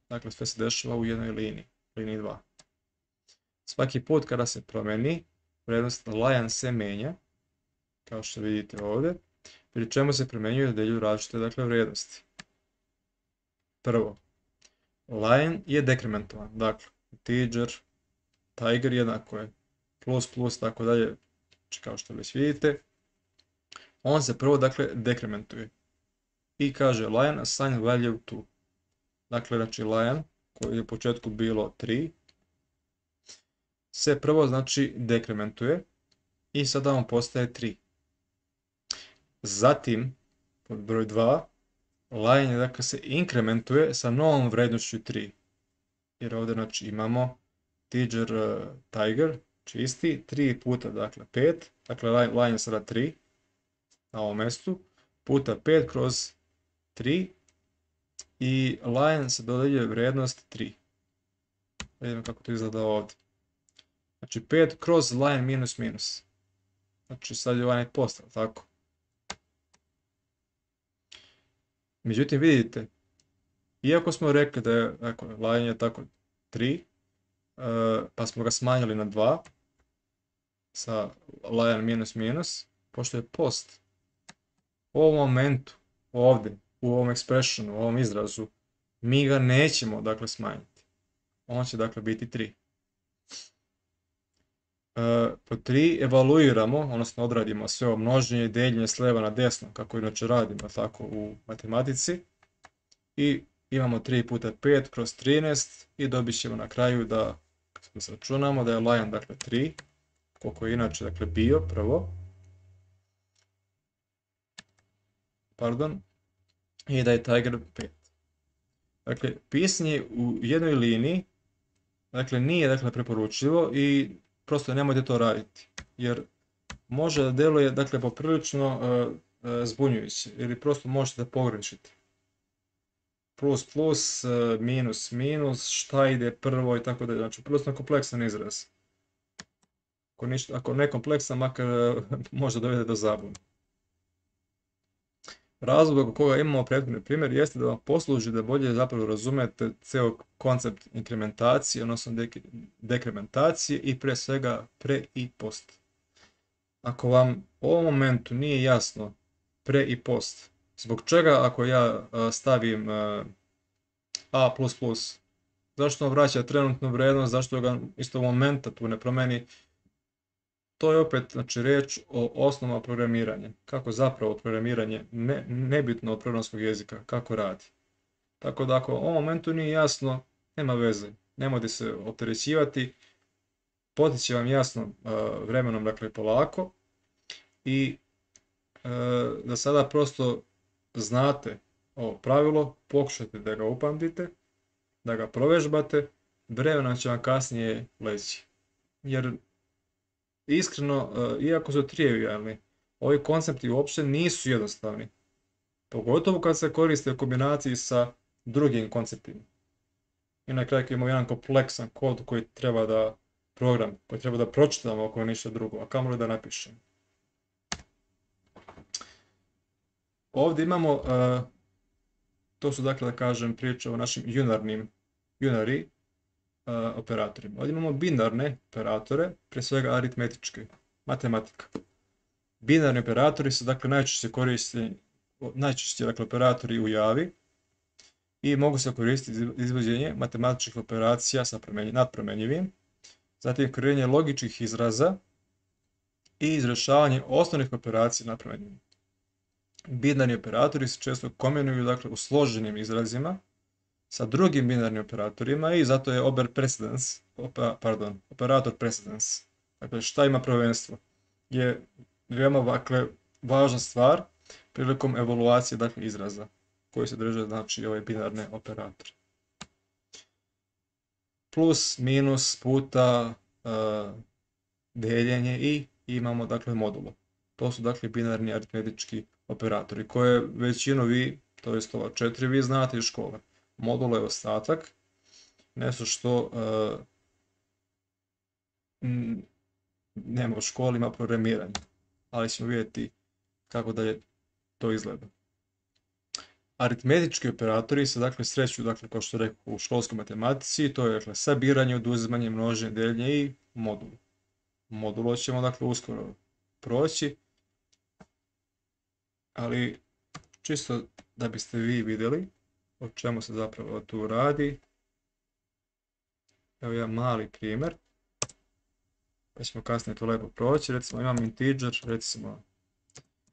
Dakle, sve se dešava u jednoj liniji, liniji dva. Svaki put kada se promijeni, vrednost lion se menja, kao što vidite ovdje, pri čemu se primjenjuje da deljuju različite dakle, vrijednosti. Prvo, lion je dekrementovan, dakle, integer, tiger jednako je plus plus, tako dalje, kao što već vidite. On se prvo, dakle, dekrementuje. I kaže lion assign value to. Dakle, znači lion, koji je u početku bilo tri, se prvo, znači, dekrementuje i sada on postaje tri. Zatim, pod broj dva, lion je, dakle, se inkrementuje sa novom vrednošću tri. Jer ovdje, znači, imamo integer uh, tiger, čisti, tri puta, dakle, pet, dakle, lion je sada tri, na ovom mjestu, puta pet kroz tri i lion se dodeljuje vrijednost tri. Vidimo kako to izgleda ovdje. Znači pet kroz lion minus minus. Znači sad je ovaj postav, tako. Međutim vidite, iako smo rekli da je, ako lion je tako tri, pa smo ga smanjili na dva sa line minus minus, pošto je post u ovom momentu, ovdje, u ovom expressionu, u ovom izrazu, mi ga nećemo, dakle, smanjiti. On će, dakle, biti tri. Po tri evaluiramo, odnosno odradimo sve ovo množenje i deljenje s lijeva na desno, kako inače radimo tako u matematici. I imamo tri puta pet kroz trinaest i dobit ćemo na kraju da, kad se računamo, da je line, dakle, tri, koliko je inače, dakle, bio prvo. Pardon. I da je tiger pet. Dakle, pisanje u jednoj liniji, dakle, nije, dakle, preporučljivo i prosto nemojte to raditi, jer može da deluje, dakle, poprilično uh, uh, zbunjujuće, ili prosto možete da pogrešite. Plus, plus, uh, minus, minus, šta ide prvo i tako da, znači, prilično kompleksan izraz. Ako, ništa, ako ne kompleksan, makar uh, može dovede do zabune. Razlog oko koga imamo prethodni primjer jeste da vam posluži da bolje zapravo razumete ceo koncept inkrementacije, odnosno dekrementacije i pre svega pre i post. Ako vam u ovom momentu nije jasno pre i post, zbog čega ako ja stavim a plus plus, zašto on vraća trenutnu vrednost, zašto ga istog momenta tu ne promeni, to je opet, znači, reč o osnovama programiranja. Kako zapravo programiranje, ne, nebitno od programskog jezika, kako radi. Tako da ako u ovom momentu nije jasno, nema veze. Nemojte se opterećivati, potiče vam jasno uh, vremenom, dakle, polako. I uh, da sada prosto znate ovo pravilo, pokušajte da ga upamtite, da ga provežbate, vremenom će vam kasnije leći. Jer iskreno, iako su trivijalni, ovi koncepti uopšte nisu jednostavni. Pogotovo kad se koriste u kombinaciji sa drugim konceptima. I na kraju imamo jedan kompleksan kod koji treba da program, koji treba da pročitamo ako ništa drugo, a kamoli da napišemo. Ovdje imamo, uh, to su, dakle, da kažem, priče o našim unarnim, unary uh, operatorima. Ovdje imamo binarne operatore, pre svega aritmetičke, matematika. Binarni operatori su, dakle, najčešće koristeni, najčešće, dakle, operatori u Javi i mogu se koristiti za izvođenje matematičkih operacija sa nadpromenjivim, zatim kreiranje logičkih izraza i izrešavanje osnovnih operacija nadpromenjivim. Binarni operatori se često kombinuju, dakle, u složenim izrazima sa drugim binarnim operatorima i zato je ober precedence, opa, pardon, operator precedence, dakle, šta ima prvenstvo, je veoma, dakle, važna stvar prilikom evaluacije, dakle, izraza koji se drže, znači, ove binarne operatore. Plus, minus, puta, uh, deljenje i imamo, dakle, modulo. To su, dakle, binarni aritmetički operatori koje većinu vi, to jest ova četiri, vi znate iz škole. Modulo je ostatak, nešto što uh, nema u školi, ima programiranje, ali ćemo vidjeti kako dalje to izgleda. Aritmetički operatori se, dakle, sreću, dakle, kao što rekao, u školskoj matematici, to je, dakle, sabiranje, oduzimanje, množenje, deljenje i modul. Modulo ćemo, dakle, uskoro proći, ali čisto da biste vi vidjeli o čemu se zapravo tu radi. Evo jedan mali primjer, pa ćemo kasnije to lepo proći. Recimo imam integer, recimo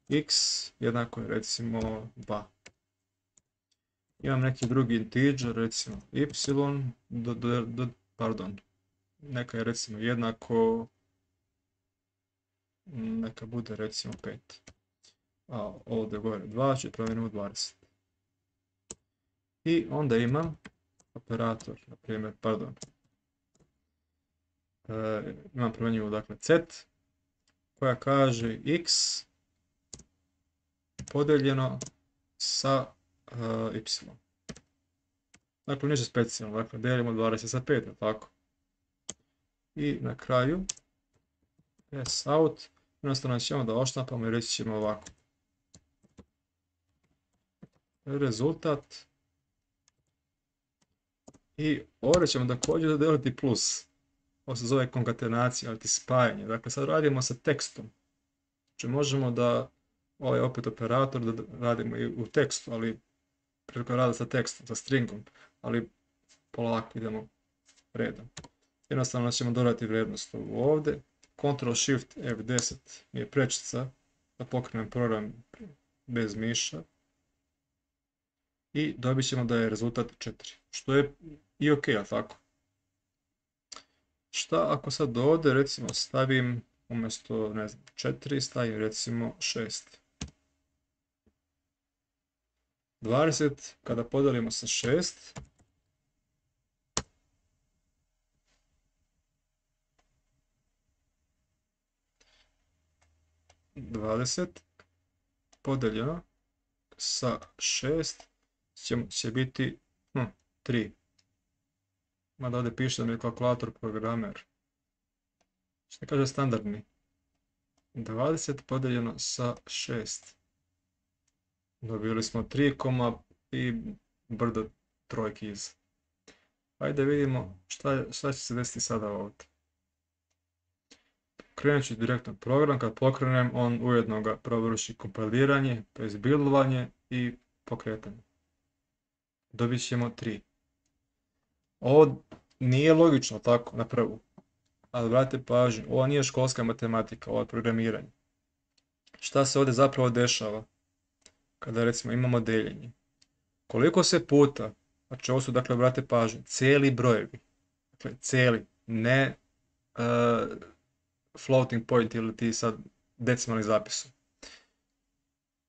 x jednako je, recimo, dva. Imam neki drugi integer, recimo y, do, do, do, pardon, neka je, recimo, jednako, neka bude, recimo, pet. A ovdje gore dva, će promijenimo dvadeset. I onda imam operator, na primjer, pardon, e, imam promjenjivu, dakle, z, koja kaže x podeljeno sa uh, y. Dakle, ništa specijalno, dakle, delimo dvadeset sa pet, tako. I na kraju, s out, jednostavno ćemo da oštampamo i reći ćemo ovako. Rezultat I ovdje ćemo također dodijeliti plus. Ovo se zove konkatenacija, ali ti spajanje. Dakle, sad radimo sa tekstom. Znači možemo da ovaj opet operator da radimo i u tekstu, ali prilikom rada sa tekstom, sa stringom, ali polako idemo redom. Jednostavno ćemo dodati vrijednost ovdje. Ctrl Shift F deset mi je prečica da pokrenem program bez miša. I dobit ćemo da je rezultat četiri. Što je i ok, a tako. Šta ako sad ovdje recimo stavim umjesto, ne znam, četiri, stavim recimo šest. dvadeset kada podijelimo sa šest, dvadeset podijeljeno sa šest će, će biti hm, tri. Mada ovdje piše da mi je kalkulator programer. Što kaže standardni? dvadeset podijeljeno sa šest. Dobili smo tri, i brdo trojki iz. Ajde vidimo šta, šta će se desiti sada ovdje. Krenut ću direktno program, kad pokrenem on ujedno ga provrši kompiliranje, to je buildovanje i pokretanje. Dobit ćemo tri. Ovo nije logično tako na prvu, ali vratite pažnju, ovo nije školska matematika, ovo je programiranje. Šta se ovdje zapravo dešava kada recimo imamo deljenje? Koliko se puta, znači ovo su dakle, vratite pažnju, cijeli brojevi, dakle cijeli, ne uh, floating point ili ti sad decimalni zapisom.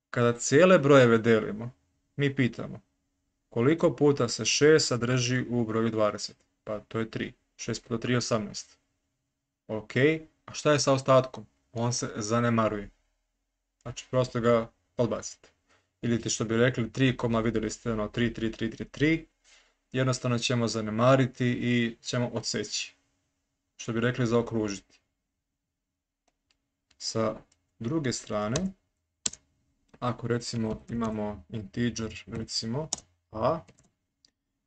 Kada cijele brojeve delimo, mi pitamo koliko puta se šest sadrži u broju dvadeset? Pa to je tri. šest puta tri je osamnaest. Ok, a šta je sa ostatkom? On se zanemaruje. Znači prosto ga odbacite. Ili ti što bi rekli tri, vidjeli ste ono tri, tri, tri, tri, tri. Jednostavno ćemo zanemariti i ćemo odseći. Što bi rekli zaokružiti. Sa druge strane, ako recimo imamo integer, recimo a,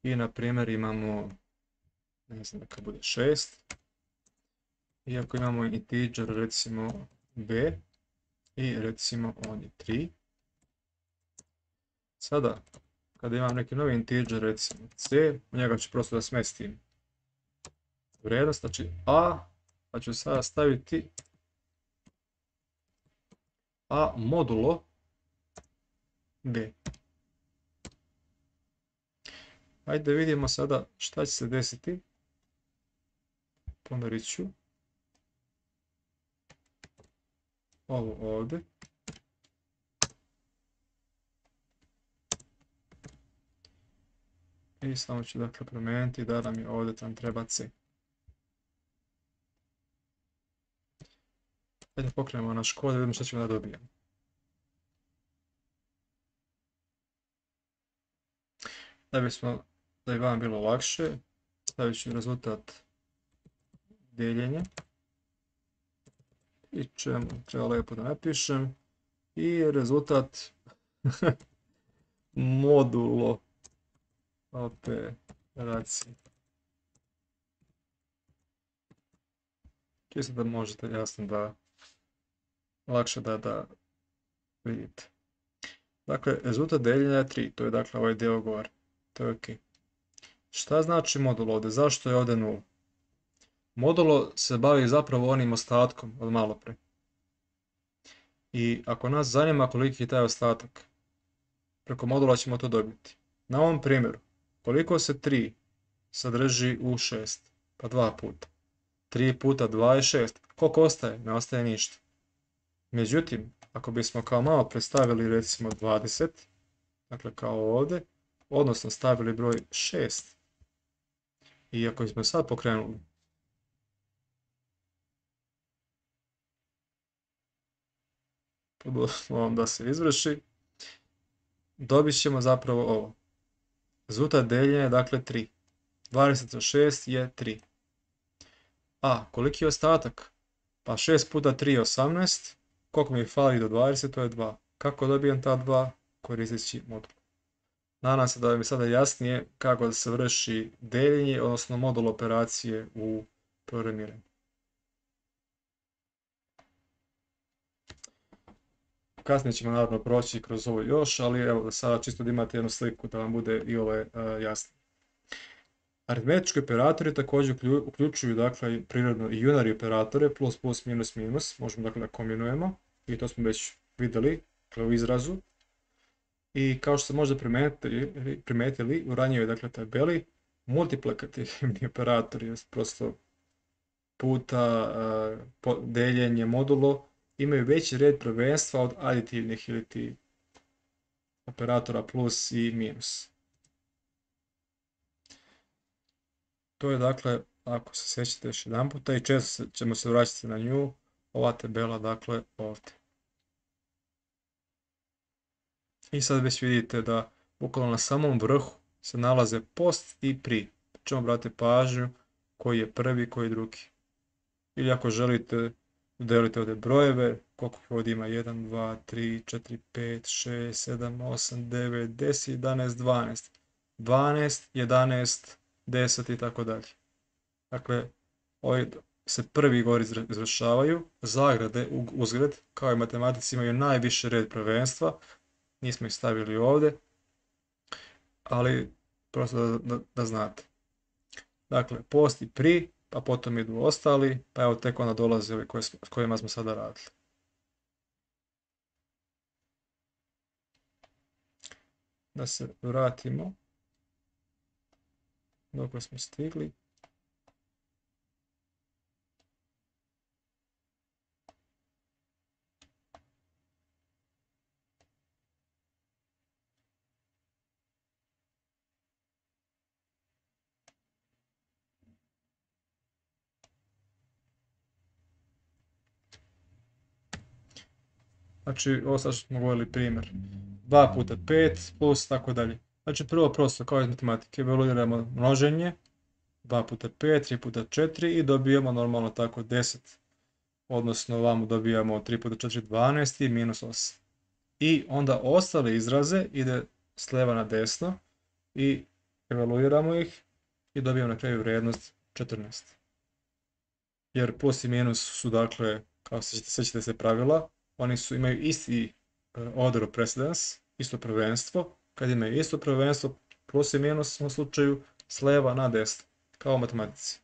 i na primjer imamo, ne znam, neka bude šest, i ako imamo integer, recimo b, i recimo on je tri, sada, kada imam neki novi integer, recimo c, u njega ću prosto da smestim vrijednost, znači a, pa ću sada staviti a modulo b. Ajde vidimo sada šta će se desiti. Pomerit ću ovo ovdje. I samo ću dakle promijeniti da nam je ovdje tam treba c. Ajde pokrenemo naš kod da vidimo što ćemo da dobijemo. Da bismo, da bi vam bilo lakše, stavit ću rezultat deljenja. I čemu treba lijepo da napišem. I rezultat modulo operacije. Čisto da možete jasno da lakše da, da vidite. Dakle, rezultat deljenja je tri, to je dakle ovaj dio gore. To je ok. Šta znači modulo ovdje? Zašto je ovdje nula? Modulo se bavi zapravo onim ostatkom od malo pre. I ako nas zanima koliki je taj ostatak, preko modula ćemo to dobiti. Na ovom primjeru, koliko se tri sadrži u šest? Pa dva puta. tri puta dva je šest. Koliko ostaje? Ne ostaje ništa. Međutim, ako bismo kao malo predstavili recimo dvadeset, dakle kao ovdje, odnosno stavili broj šest, i ako smo sad pokrenuli, podoslovno da se izvrši, dobit ćemo zapravo ovo. Rezultat deljenja je dakle tri. dvadeset od šest je tri. A, koliki je ostatak? Pa šest puta tri je osamnaest. Koliko mi fali do dvadeset, to je dva. Kako dobijem ta dva? Koristeći modul. Nadam se da vam je sada jasnije kako da se vrši deljenje, odnosno modul operacije u programiranju. Kasnije ćemo naravno proći kroz ovo još, ali evo sada čisto da imate jednu sliku da vam bude i ovo jasno. Aritmetički operatori također uključuju dakle prirodno i unary operatore, plus, plus, minus, minus, možemo dakle da kombinujemo i to smo već vidjeli dakle, u izrazu. I kao što ste možda primetili, primetili u ranijoj dakle tabeli, multiplikativni operatori, prosto puta uh, deljenje modulo, imaju veći red prvenstva od aditivnih ili ti operatora plus i minus. To je dakle, ako se sjećate još jedan puta i često ćemo se vraćati na nju, ova tabela dakle ovdje. I sad već vidite da bukvalno na samom vrhu se nalaze post i pri. Čemo brate pažnju koji je prvi, koji je drugi. Ili ako želite udelite ovdje brojeve, koliko ovdje ima jedan, dva, tri, četiri, pet, šest, sedam, osam, devet, deset, jedanaest, dvanaest. dvanaest, jedanaest, deset i tako dalje. Dakle, ovi se prvi gore izvršavaju, zagrade uzgred, kao i matematici imaju najviše red prvenstva, nismo ih stavili ovdje, ali prosto da, da, da znate. Dakle, post i pri, pa potom idu ostali, pa evo tek onda dolaze ovi koje, s kojima smo sada radili. Da se vratimo dok smo stigli. Znači, ovo sad što smo govorili primjer. dva puta pet plus tako dalje. Znači, prvo prosto kao iz matematike evaluiramo množenje. dva puta pet, tri puta četiri i dobijemo normalno tako deset. Odnosno, ovamo dobijamo tri puta četiri, dvanaest i minus osam. I onda ostale izraze ide s lijeva na desno i evaluiramo ih i dobijemo na kraju vrijednost četrnaest. Jer plus i minus su dakle, kao se sjećate se pravila, oni su, imaju isti uh, order of precedence, isto prvenstvo. Kad imaju isto prvenstvo, plus i minus u slučaju s lijeva na desno, kao u matematici.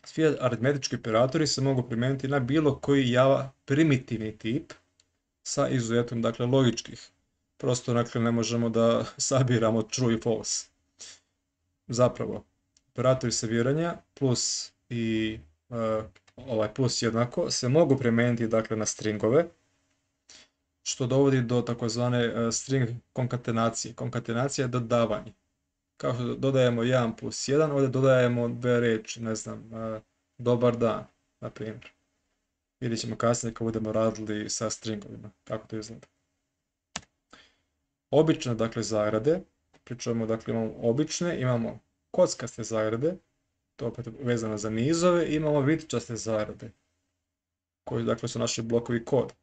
Svi aritmetički operatori se mogu primijeniti na bilo koji Java primitivni tip sa izuzetom dakle logičkih. Prosto dakle ne možemo da sabiramo true i false. Zapravo, operatori sabiranja plus i uh, ovaj plus jednako se mogu primijeniti dakle na stringove, što dovodi do takozvane uh, string konkatenacije. Konkatenacija je dodavanje. Kao što dodajemo jedan plus jedan, ovdje dodajemo dve riječi, ne znam, uh, dobar dan, na primjer. Vidjet ćemo kasnije kad budemo radili sa stringovima, kako to izgleda. Obične, dakle, zagrade, pričamo, dakle, imamo obične, imamo kockaste zagrade, to opet vezano za nizove, i imamo vitčaste zagrade, koji, dakle, su naši blokovi koda.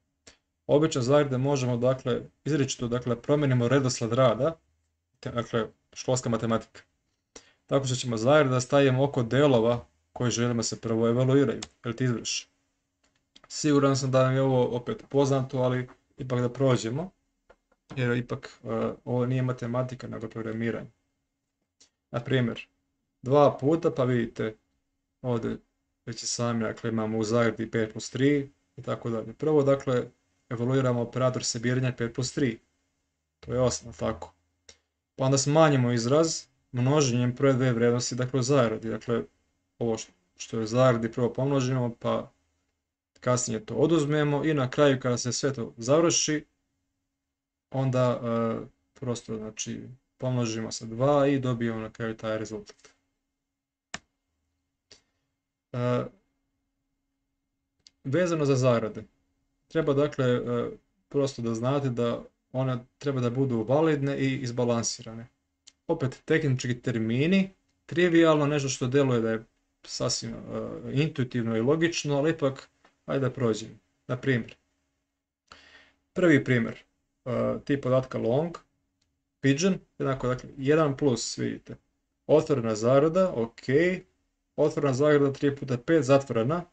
Obične zagrade možemo, dakle, izričito, dakle, promijenimo redosled rada, dakle, školska matematika. Tako što ćemo zagrade da stavimo oko delova koji želimo se prvo evaluiraju, ili ti izvrši. Siguran sam da vam je ovo opet poznato, ali ipak da prođemo, jer ipak uh, ovo nije matematika, nego programiranje. Na primjer, dva puta, pa vidite, ovdje već i sami, dakle, imamo u zagradi pet plus tri i tako dalje. Prvo, dakle, evaluiramo operator sabiranja pet plus tri. To je osam, tako. Pa onda smanjimo izraz množenjem prve dve vrijednosti, dakle, u zagradi. Dakle, ovo što je u zagradi prvo pomnožimo, pa kasnije to oduzmemo i na kraju kada se sve to završi, onda uh, prosto znači pomnožimo sa dva i dobijemo na kraju taj rezultat. Uh, vezano za zagrade, treba dakle uh, prosto da znate da one treba da budu validne i izbalansirane. Opet tehnički termini, trivijalno, nešto što deluje da je sasvim uh, intuitivno i logično, ali ipak ajde da prođem. Na primjer, prvi primjer, uh, tip podatka long, Pigeon, jednako, dakle, jedan plus, vidite, otvorena zagrada, ok, otvorena zagrada tri puta pet, zatvorena,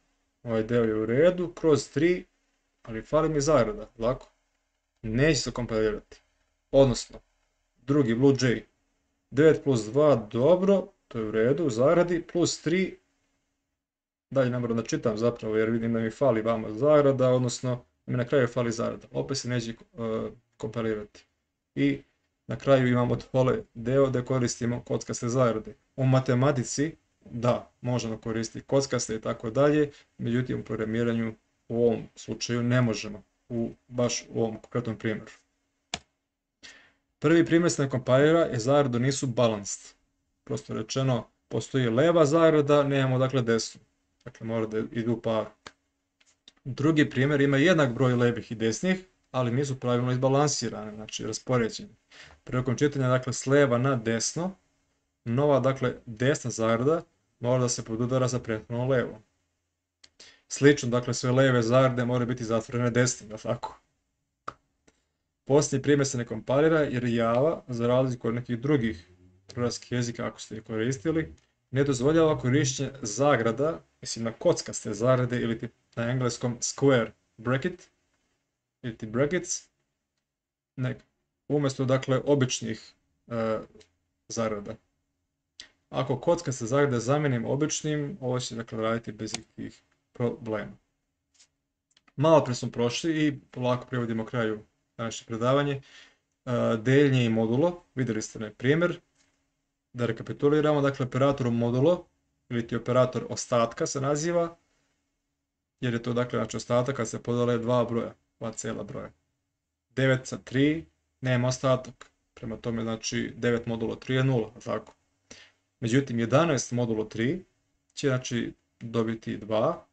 ovaj deo je u redu, kroz tri, ali fali mi zagrada, lako, neće se kompilirati, odnosno, drugi Blue Jay, devet plus dva, dobro, to je u redu, u zagradi, plus tri, dalje ne moram da čitam zapravo jer vidim da mi fali vama zagrada, odnosno da mi na kraju fali zagrada, opet se neće uh, kompilirati. I na kraju imamo dole deo da koristimo kockaste zagrade. U matematici, da, možemo koristiti kockaste i tako dalje, međutim u programiranju u ovom slučaju ne možemo, u, baš u ovom konkretnom primjeru. Prvi primjer se ne kompilira jer zagrade nisu balanced. Prosto rečeno, postoji leva zagrada, nemamo dakle desnu. Dakle, mora da idu u paru. Drugi primjer ima jednak broj levih i desnih, ali nisu pravilno izbalansirane, znači raspoređene. Prilikom čitanja, dakle, s leva na desno, nova, dakle, desna zagrada mora da se podudara za prethodno levo. Slično, dakle, sve leve zagrade moraju biti zatvorene desnim, da tako? Posljednji primjer se ne kompilira jer Java, za razliku od nekih drugih programskih jezika, ako ste ih koristili, ne dozvoljava korištenje zagrada, mislim na kockaste zagrade ili na engleskom square bracket ili ti brackets, ne, umjesto dakle običnih e, zagrada. Ako kockaste zagrade zamijenim običnim, ovo će dakle raditi bez ikakvih problema. Malo pre smo prošli i polako privodimo kraju današnje predavanje. E, deljenje i modulo, vidjeli ste na primjer. Da rekapituliramo, dakle, operator modulo, ili ti operator ostatka se naziva, jer je to, dakle, znači ostatak kad se podale dva broja, dva cijela broja. devet sa tri, nema ostatak, prema tome, znači, devet modulo tri je nula, tako. Međutim, jedanaest modulo tri će, znači, dobiti dva,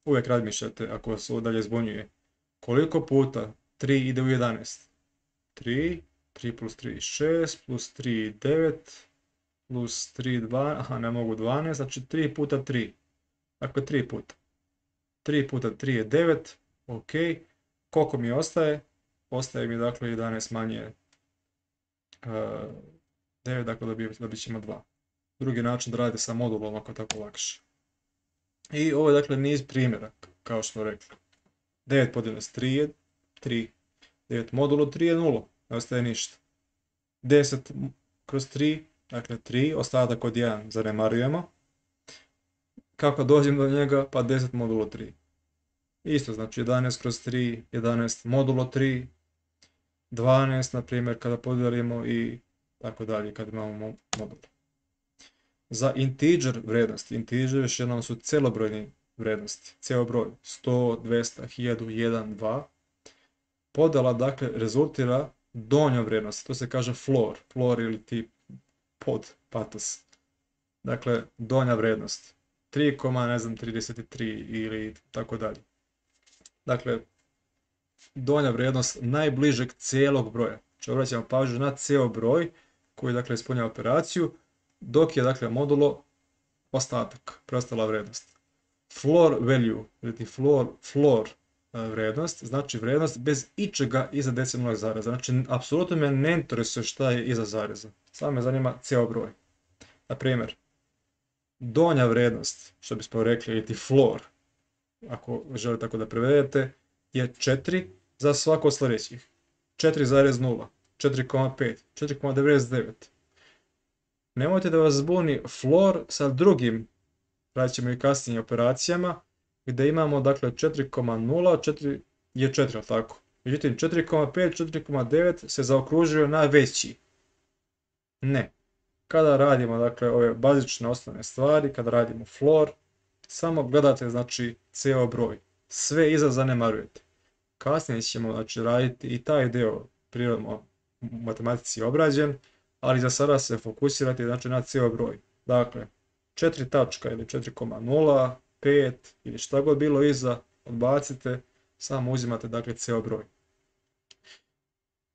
uvijek razmišljate, ako vas ovo dalje zbunjuje, koliko puta tri ide u jedanaest? tri, tri plus tri, šest, plus tri, devet, plus tri, dva, aha, ne mogu dvanaest, znači tri puta tri. Dakle, tri puta. tri puta tri je devet, ok. Koliko mi ostaje? Ostaje mi, dakle, jedanaest manje uh, devet, dakle, dobit ćemo dva. Drugi način da radite sa modulom, ako je tako lakše. I ovo je, dakle, niz primjera, kao što smo rekli. devet podijeljeno s tri je tri. devet modulo tri je nula, ne ostaje ništa. deset kroz tri, dakle tri, ostatak od jedan zanemarujemo. Kako dođem do njega? Pa deset modulo tri. Isto, znači jedanaest kroz tri, jedanaest modulo tri, dvanaest, na primjer, kada podijelimo i tako dalje, kada imamo modul. Za integer vrednosti, integer još jednom su celobrojni vrednosti, ceo broj, sto, dvesta, hiljadu, jedan, dva. Podela, dakle, rezultira donjom vrednosti, to se kaže floor, floor ili ti pod, patos. Dakle, donja vrednost, tri, ne znam, trideset tri ili tako dalje. Dakle, donja vrednost najbližeg cijelog broja. Znači, obraćamo pažnju na cijel broj koji, dakle, ispunjava operaciju, dok je, dakle, modulo ostatak, preostala vrednost. Floor value, ili ti floor, floor vrednost, znači vrednost bez ičega iza decimalnog zareza. Znači, apsolutno me ne interesuje šta je iza zareza. Samo me zanima cijel broj. Na primjer, donja vrednost, što bismo rekli, ili ti floor, ako želite tako da prevedete, je četiri za svako od sljedećih. četiri zarez nula, četiri zarez pet, četiri zarez devedeset devet. Nemojte da vas zbuni floor sa drugim, radit ćemo i kasnije operacijama, gdje imamo, dakle, četiri zarez nula, četiri je četiri, tako. Međutim, četiri zarez pet, četiri zarez devet se zaokružuju na veći. Ne. Kada radimo, dakle, ove bazične osnovne stvari, kada radimo floor, samo gledate, znači, cijel broj. Sve iza zanemarujete. Kasnije ćemo, znači, raditi i taj deo prirodno u matematici obrađen, ali za sada se fokusirati, znači, na cijel broj. Dakle, četiri tačka ili četiri zarez nula, pet ili šta god bilo iza, odbacite, samo uzimate, dakle, cijel broj.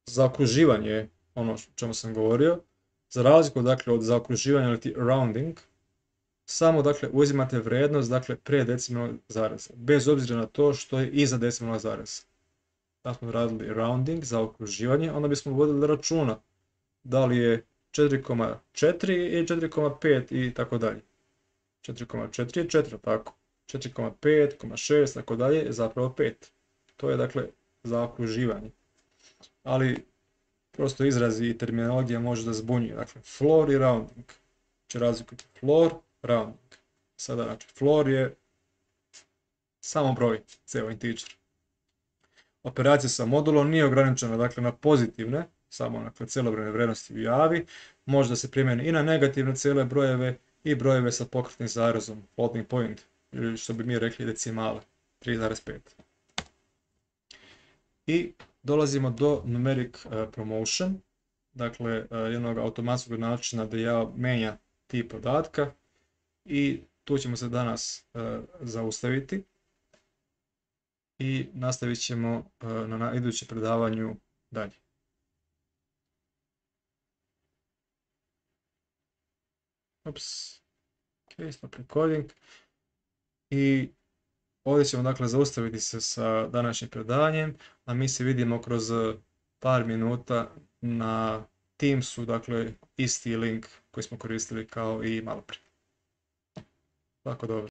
Zaokruživanje je ono o čemu sam govorio. Za razliku, dakle, od zaokruživanja ili ti rounding, samo, dakle, uzimate vrednost, dakle, pre decimalnog zareza, bez obzira na to što je iza decimalnog zareza. Da smo radili rounding, zaokruživanje, onda bismo vodili računa da li je četiri zarez četiri ili četiri zarez pet i tako dalje. četiri zarez četiri je četiri, tako. četiri zarez pet, šest, tako dalje je zapravo pet. To je dakle zaokruživanje. Ali prosto izrazi i terminologija može da zbunjuje. Dakle, floor i rounding će razlikovati. Floor, rounding. Sada, znači, floor je samo broj, ceo integer. Operacija sa modulom nije ograničena, dakle, na pozitivne, samo dakle, celobrojne vrednosti u javi, može da se primjeni i na negativne cele brojeve i brojeve sa pokretnim zarezom, floating point, ili što bi mi rekli decimale, tri zarez pet. I dolazimo do numeric uh, promotion, dakle uh, jednog automatskog načina da ja menja tip podatka i tu ćemo se danas uh, zaustaviti i nastavit ćemo uh, na, na idućem predavanju dalje. Ups, ok, stop recording. I ovdje ćemo dakle zaustaviti se sa današnjim predavanjem, a mi se vidimo kroz par minuta na Teamsu, dakle isti link koji smo koristili kao i malo prije. Tako dobro.